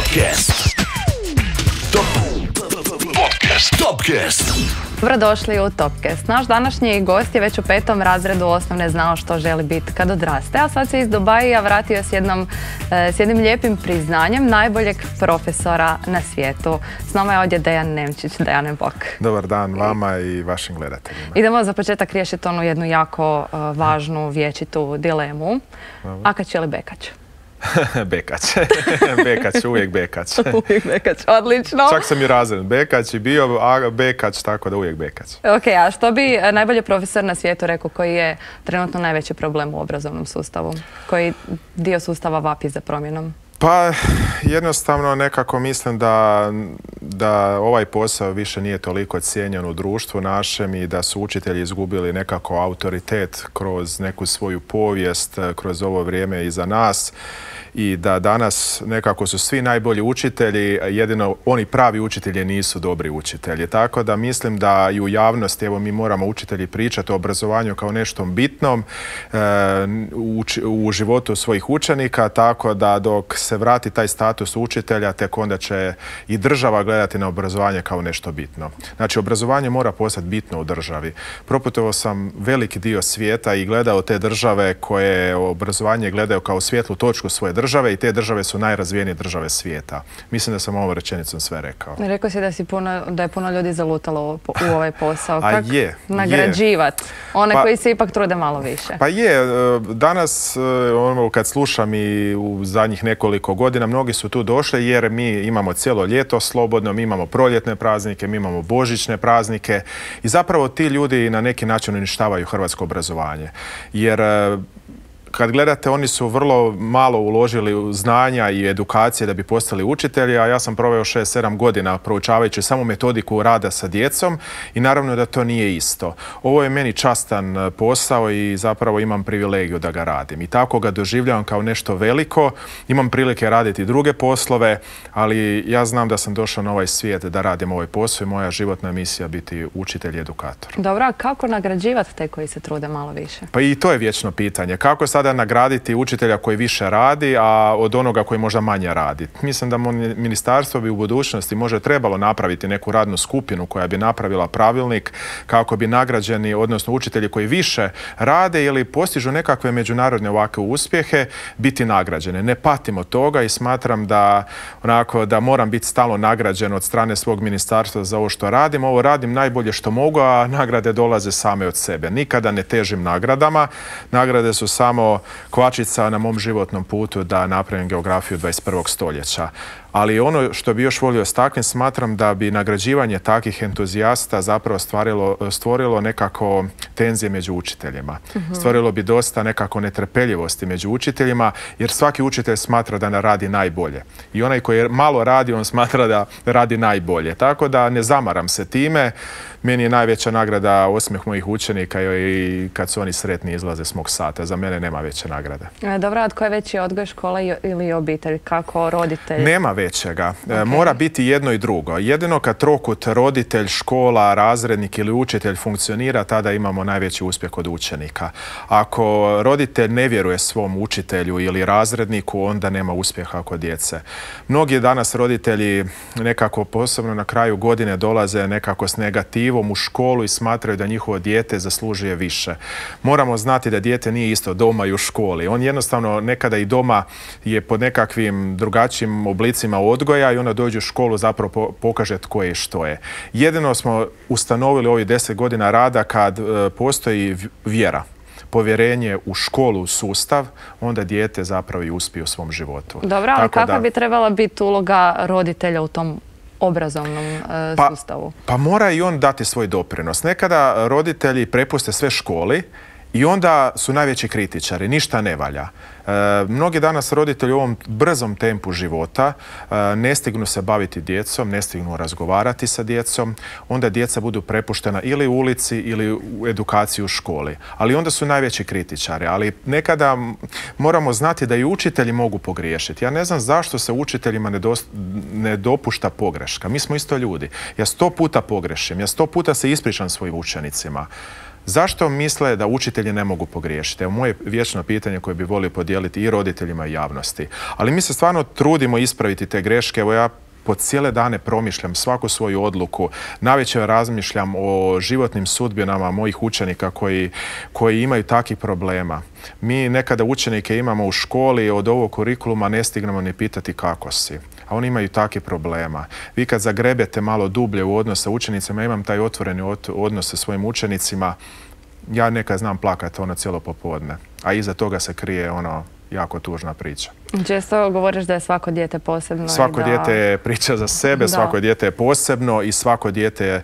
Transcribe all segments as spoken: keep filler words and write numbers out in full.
Topcast. Top Podcast. Topcast. Dobrodošli u Topcast. Naš današnji gost je već u petom razredu osnovne znao što želi biti kad odraste, a sad se iz Dubaija vratio s, jednom, s jednim lijepim priznanjem najboljeg profesora na svijetu. S nama je ovdje Dejan Nemčić. Dejane, bok. Dobar dan vama i vašim gledateljima. Idemo za početak riješiti onu jednu jako uh, važnu vječitu dilemu. Akač ili Bekać? Bekać. Bekać, uvijek Bekać. Uvijek Bekać, odlično. Čak sam i razred Bekać i bio, a Bekać, tako da uvijek Bekać. Ok, a što bi najbolji profesor na svijetu rekao koji je trenutno najveći problem u obrazovnom sustavu? Koji dio sustava vapi za promjenom? Pa jednostavno nekako mislim da, da ovaj posao više nije toliko cijenjen u društvu našem i da su učitelji izgubili nekako autoritet kroz neku svoju povijest, kroz ovo vrijeme iza nas. I da danas nekako su svi najbolji učitelji, jedino oni pravi učitelji nisu dobri učitelji. Tako da mislim da i u javnosti, evo mi moramo učitelji pričati o obrazovanju kao nešto bitnom e, u, u životu svojih učenika, tako da dok se vrati taj status učitelja, tek onda će i država gledati na obrazovanje kao nešto bitno. Znači, obrazovanje mora postati bitno u državi. Proputovao sam veliki dio svijeta i gledao te države koje obrazovanje gledaju kao svjetlu točku svoje države i te države su najrazvijenije države svijeta. Mislim da sam ovom rečenicom sve rekao. Rekao si da, si puno, da je puno ljudi zalutalo u ovaj posao. A Kako je, nagrađivati one pa, koji se ipak trude malo više? Pa je, danas ono, kad slušam i u zadnjih nekoliko godina, mnogi su tu došli jer mi imamo cijelo ljeto slobodno, mi imamo proljetne praznike, mi imamo božićne praznike i zapravo ti ljudi na neki način uništavaju hrvatsko obrazovanje. Jer kad gledate, oni su vrlo malo uložili u znanja i edukacije da bi postali učitelji, a ja sam proveo šest sedam godina proučavajući samo metodiku rada sa djecom i naravno da to nije isto. Ovo je meni častan posao i zapravo imam privilegiju da ga radim. I tako ga doživljavam kao nešto veliko. Imam prilike raditi druge poslove, ali ja znam da sam došao na ovaj svijet da radim ovaj posao i moja životna misija biti učitelj i edukator. Dobro, a kako nagrađivati te koji se trude malo više? Pa i to je vječno pitanje. Kako sada nagraditi učitelja koji više radi, a od onoga koji možda manje radi? Mislim da ministarstvo bi u budućnosti možda trebalo napraviti neku radnu skupinu koja bi napravila pravilnik kako bi nagrađeni, odnosno učitelji koji više rade ili postižu nekakve međunarodne ovakve uspjehe, biti nagrađene. Ne patim od toga i smatram da, onako, da moram biti stalno nagrađen od strane svog ministarstva za ovo što radim. Ovo radim najbolje što mogu, a nagrade dolaze same od sebe. Nikada ne težim nagradama. Nagrade su samo kvačica na mom životnom putu da napravim geografiju dvadeset prvog stoljeća. Ali ono što bi još volio istaknuti, smatram da bi nagrađivanje takvih entuzijasta zapravo stvarilo, stvorilo nekako tenzije među učiteljima. Mm-hmm. Stvorilo bi dosta nekako netrpeljivosti među učiteljima, jer svaki učitelj smatra da ne radi najbolje. I onaj koji malo radi, on smatra da radi najbolje. Tako da ne zamaram se time. Meni je najveća nagrada osmijeh mojih učenika i kad su oni sretni izlaze s mog sata. Za mene nema veće nagrade. E, dobro, a tko je veći odgoj, škola ili obitelj? Kako roditelj? Nema većega. Okay. Mora biti jedno i drugo. Jedino kad trokut roditelj, škola, razrednik ili učitelj funkcionira, tada imamo najveći uspjeh kod učenika. Ako roditelj ne vjeruje svom učitelju ili razredniku, onda nema uspjeha kod djece. Mnogi danas roditelji nekako posebno na kraju godine dolaze nekako s negativom u školu i smatraju da njihovo dijete zaslužuje više. Moramo znati da dijete nije isto doma i u školi. On jednostavno nekada i doma je pod nekakvim drugačijim oblicima odgoja i onda dođe u školu, zapravo pokaže tko je i što je. Jedino smo ustanovili ovih deset godina rada kad e, postoji vjera, povjerenje u školu, u sustav, onda dijete zapravo i uspije u svom životu. Dobro, ali kakva da... bi trebala biti uloga roditelja u tom obrazovnom e, pa, sustavu? Pa mora i on dati svoj doprinos. Nekada roditelji prepuste sve školi i onda su najveći kritičari, ništa ne valja. E, mnogi danas roditelji u ovom brzom tempu života e, ne stignu se baviti djecom, ne stignu razgovarati sa djecom, onda djeca budu prepuštena ili u ulici ili u edukaciji u školi. Ali onda su najveći kritičari. Ali nekada moramo znati da i učitelji mogu pogriješiti. Ja ne znam zašto se učiteljima ne, do, ne dopušta pogreška. Mi smo isto ljudi. Ja sto puta pogrešim, ja sto puta se ispričam svojim učenicima. Zašto misle da učitelji ne mogu pogriješiti? Evo moje vječno pitanje koje bi volio podijeliti i roditeljima i javnosti. Ali mi se stvarno trudimo ispraviti te greške. Evo ja po cijele dane promišljam svaku svoju odluku. Navečer razmišljam o životnim sudbinama mojih učenika koji, koji imaju takvih problema. Mi nekada učenike imamo u školi, od ovog kurikuluma ne stignemo ni pitati kako si. A oni imaju takvih problema. Vi kad zagrebete malo dublje u odnos sa učenicima, imam taj otvoreni odnos sa svojim učenicima, ja nekad znam plakati ono cijelo popodne. A iza toga se krije ono jako tužna priča. Često govoriš da je svako dijete posebno. Svako i da... dijete je priča za sebe, da. Svako dijete je posebno i svako dijete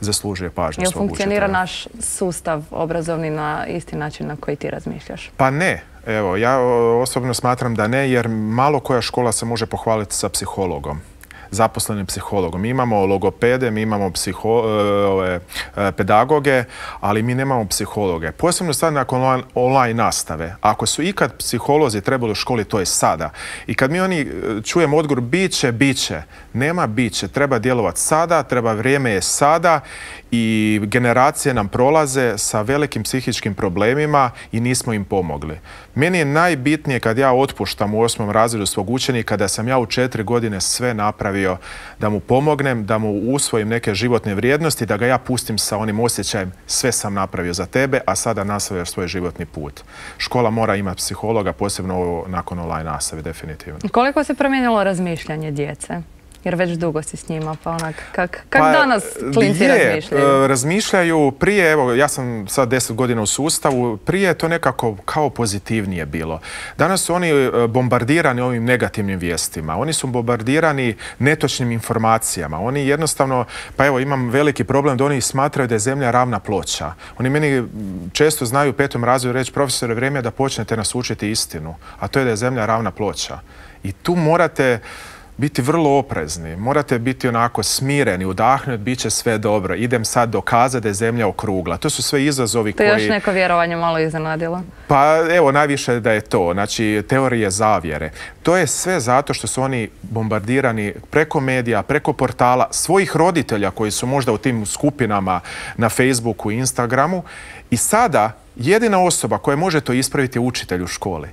zaslužuje pažnju Jel svog učitelja. funkcionira naš sustav obrazovni na isti način na koji ti razmišljaš? Pa ne. Evo, ja osobno smatram da ne, jer malo koja škola se može pohvaliti sa psihologom, zaposlenim psihologom. Mi imamo logopede, mi imamo psiho, ove, pedagoge, ali mi nemamo psihologe. Posebno sad nakon online nastave. Ako su ikad psiholozi trebali u školi, to je sada. I kad mi oni čujemo odgovor biće, biće, nema biće, treba djelovati sada, treba vrijeme je sada i generacije nam prolaze sa velikim psihičkim problemima i nismo im pomogli. Meni je najbitnije kad ja otpuštam u osmom razredu svog učenika da sam ja u četiri godine sve napravio da mu pomognem, da mu usvojim neke životne vrijednosti, da ga ja pustim sa onim osjećajem sve sam napravio za tebe, a sada nastavljaš svoj životni put. Škola mora imati psihologa, posebno nakon online nastave, definitivno. Koliko se promijenilo razmišljanje djece? Jer već dugo si s njima, pa onak, kak, kak pa, danas klinci je, razmišljaju? Razmišljaju prije, evo, ja sam sad deset godina u sustavu, prije je to nekako kao pozitivnije bilo. Danas su oni bombardirani ovim negativnim vijestima, oni su bombardirani netočnim informacijama, oni jednostavno, pa evo, imam veliki problem da oni smatraju da je zemlja ravna ploča. Oni meni često znaju u petom razredu reći, profesore, vrijeme je da počnete nas učiti istinu, a to je da je zemlja ravna ploča. I tu morate biti vrlo oprezni, morate biti onako smireni, udahnuti, bit će sve dobro. Idem sad dokazati da je zemlja okrugla. To su sve izazovi koji... To je još neko vjerovanje malo iznenadilo? Pa evo, najviše da je to. Znači, teorije zavjere. To je sve zato što su oni bombardirani preko medija, preko portala, svojih roditelja koji su možda u tim skupinama na Facebooku i Instagramu. I sada jedina osoba koja može to ispraviti je učitelj u školi.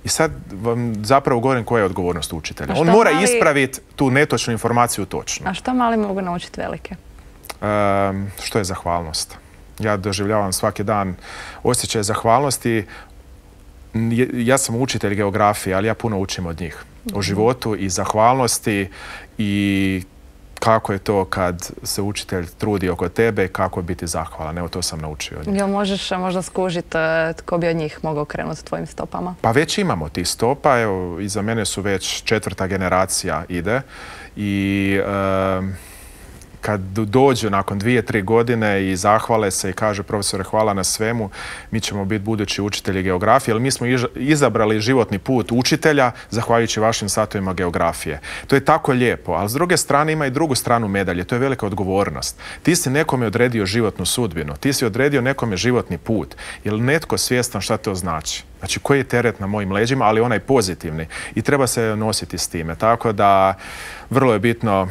I sad vam zapravo govorim koja je odgovornost učitelja. On mora mali... ispraviti tu netočnu informaciju točno. A što mali mogu naučiti velike? Um, što je zahvalnost? Ja doživljavam svaki dan osjećaj zahvalnosti. Ja sam učitelj geografije, ali ja puno učim od njih. O životu i zahvalnosti i kako je to kad se učitelj trudi oko tebe, kako je biti zahvalan. Evo, to sam naučio od njih. Jel možeš možda skužiti tko bi od njih mogao krenuti tvojim stopama? Pa već imamo tih stopa. Evo, iza mene su već četvrta generacija ide. I um, kad dođu nakon dvije, tri godine i zahvale se i kažu, profesore, hvala na svemu, mi ćemo biti budući učitelji geografije, ali mi smo izabrali životni put učitelja zahvaljujući vašim satovima geografije. To je tako lijepo, ali s druge strane ima i drugu stranu medalje, to je velika odgovornost. Ti si nekome odredio životnu sudbinu, ti si odredio nekome životni put. Je li netko svjestan šta to znači? Znači, koji je teret na mojim leđima, ali onaj pozitivni. I treba se nositi s time. Tako da, vrlo je bitno.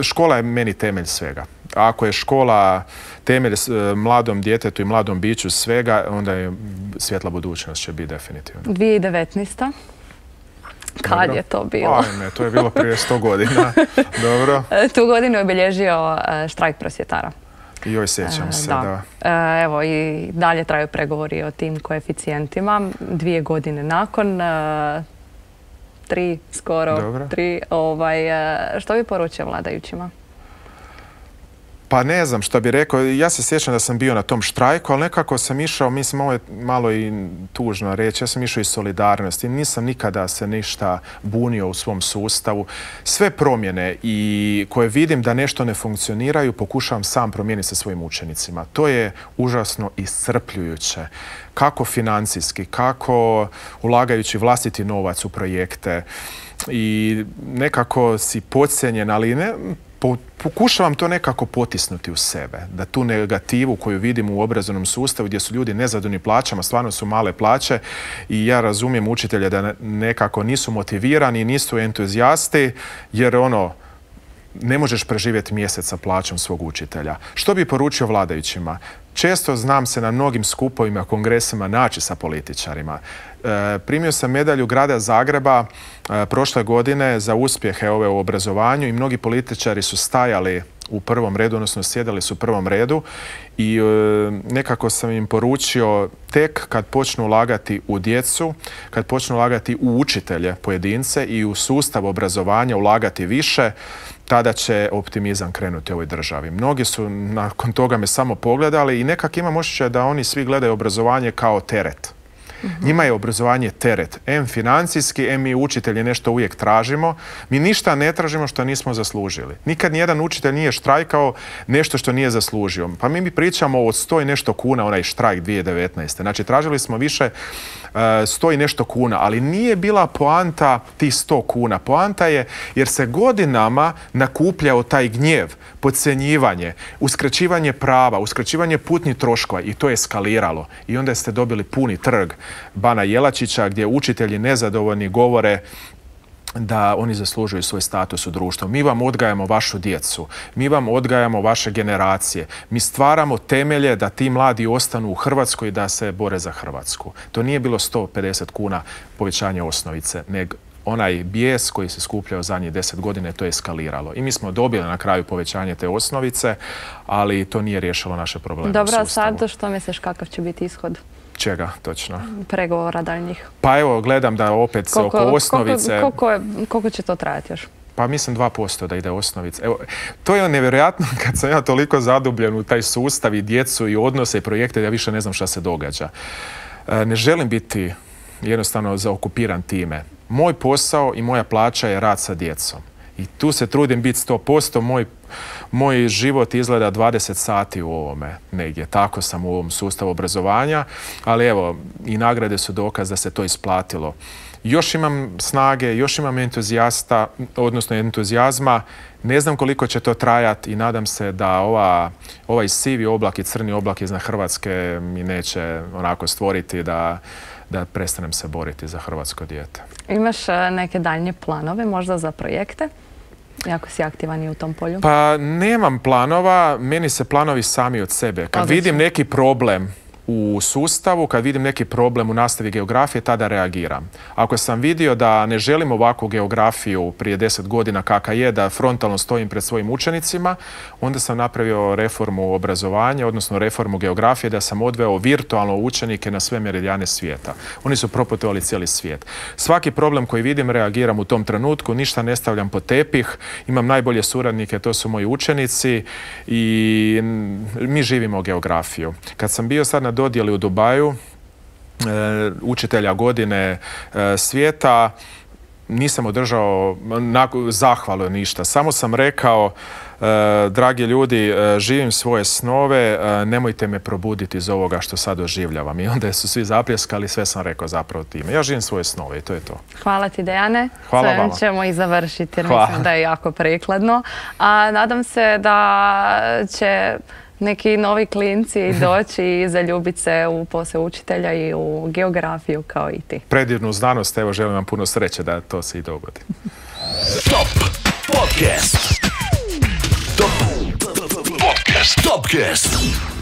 Škola je meni temelj svega. Ako je škola temelj mladom djetetu i mladom biću svega, onda je svjetla budućnost će biti definitivno. dvije tisuće devetnaesta. Kad Dobro. je to bilo? Ajme, to je bilo prije sto godina. Dobro. Tu godinu je obilježio štrajk prosvjetara. Joj, sjećam se, da. da. Evo, i dalje traju pregovori o tim koeficijentima. Dvije godine nakon, tri skoro, Dobro. tri. Ovaj, što bi poručio vladajućima? Pa ne znam što bi rekao. Ja se sjećam da sam bio na tom štrajku, ali nekako sam išao, mislim, ovo je malo i tužno reći, ja sam išao iz solidarnosti. Nisam nikada se ništa bunio u svom sustavu. Sve promjene i koje vidim da nešto ne funkcioniraju, pokušavam sam promijeniti sa svojim učenicima. To je užasno iscrpljujuće. Kako financijski, kako ulagajući vlastiti novac u projekte i nekako si podcijenjen, ali ne... Pokušavam to nekako potisnuti u sebe, da tu negativu koju vidim u obrazovnom sustavu gdje su ljudi nezadovoljni plaćama, stvarno su male plaće i ja razumijem učitelje da nekako nisu motivirani, nisu entuzijasti jer ono, ne možeš preživjeti mjesec sa plaćom svog učitelja. Što bi poručio vladajućima? često znam se na mnogim skupovima, kongresima naći sa političarima. E, primio sam medalju grada Zagreba e, prošle godine za uspjehe ove u obrazovanju i mnogi političari su stajali u prvom redu, odnosno sjedali su u prvom redu i e, nekako sam im poručio tek kad počnu ulagati u djecu, kad počnu ulagati u učitelje pojedince i u sustav obrazovanja ulagati više, tada će optimizam krenuti u ovoj državi. Mnogi su nakon toga me samo pogledali i nekak imam osjećaj da oni svi gledaju obrazovanje kao teret. Njima je obrazovanje teret. Em financijski, em mi učitelji nešto uvijek tražimo. Mi ništa ne tražimo što nismo zaslužili. Nikad nijedan učitelj nije štrajkao nešto što nije zaslužio. Pa mi mi pričamo o sto i nešto kuna, onaj štrajk dvije tisuće devetnaeste. Znači, tražili smo više uh, sto i nešto kuna, ali nije bila poanta tih sto kuna. Poanta je jer se godinama nakupljao taj gnjev, podcjenjivanje, uskraćivanje prava, uskraćivanje putnih troškova i to je eskaliralo. I onda ste dobili puni trg Bana Jelačića gdje učitelji nezadovoljni govore da oni zaslužuju svoj status u društvu. Mi vam odgajamo vašu djecu, mi vam odgajamo vaše generacije, mi stvaramo temelje da ti mladi ostanu u Hrvatskoj i da se bore za Hrvatsku. To nije bilo sto pedeset kuna povećanje osnovice, nego onaj bijes koji se skupljao zadnjih deset godina, to je eskaliralo. I mi smo dobili na kraju povećanje te osnovice, ali to nije riješilo naše probleme. Dobro, a sad što misliš kakav će biti ishod? Čega, točno? Pregovora daljnjih. Pa evo, gledam da opet se oko osnovice... Koliko, koliko, koliko će to trajati još? Pa mislim dva posto da ide osnovica. Evo, to je nevjerojatno kad sam ja toliko zadubljen u taj sustav i djecu i odnose i projekte da ja više ne znam šta se događa. E, ne želim biti jednostavno zaokupiran time. Moj posao i moja plaća je rad sa djecom. I tu se trudim biti sto posto. Moj, moj život izgleda dvadeset sati u ovome negdje. Tako sam u ovom sustavu obrazovanja. Ali evo, i nagrade su dokaz da se to isplatilo. Još imam snage, još imam entuzijasta, odnosno entuzijazma. Ne znam koliko će to trajati i nadam se da ova, ovaj sivi oblak i crni oblak iznad Hrvatske mi neće onako stvoriti da... da prestanem se boriti za hrvatsko dijete. Imaš neke daljnje planove, možda za projekte? Jako si aktivan i u tom polju. Pa nemam planova, meni se planovi sami od sebe. Kad Odlično. vidim neki problem u sustavu, kad vidim neki problem u nastavi geografije, tada reagiram. Ako sam vidio da ne želim ovakvu geografiju prije deset godina kakva je, da frontalno stojim pred svojim učenicima, onda sam napravio reformu obrazovanja, odnosno reformu geografije, da sam odveo virtualno učenike na sve meridijane svijeta. Oni su proputovali cijeli svijet. Svaki problem koji vidim, reagiram u tom trenutku, ništa ne stavljam pod tepih, imam najbolje suradnike, to su moji učenici i mi živimo geografiju. Kad sam bio sad na dodjeli u Dubaju, e, učitelja godine e, svijeta, nisam održao zahvalu ništa. Samo sam rekao, e, dragi ljudi, e, živim svoje snove, e, nemojte me probuditi iz ovoga što sad doživljavam. I onda su svi zapljeskali, sve sam rekao zapravo time. Ja živim svoje snove i to je to. Hvala ti, Dejane. Hvala Sve vama. ćemo i završiti jer Hvala. mislim da je jako prikladno. A nadam se da će neki novi klinci doći i zaljubiti se u posao učitelja i u geografiju kao i ti. Predivnu znanost, evo želim vam puno sreće da to se i dogodi. Top Podcast. Top Podcast. Topcast.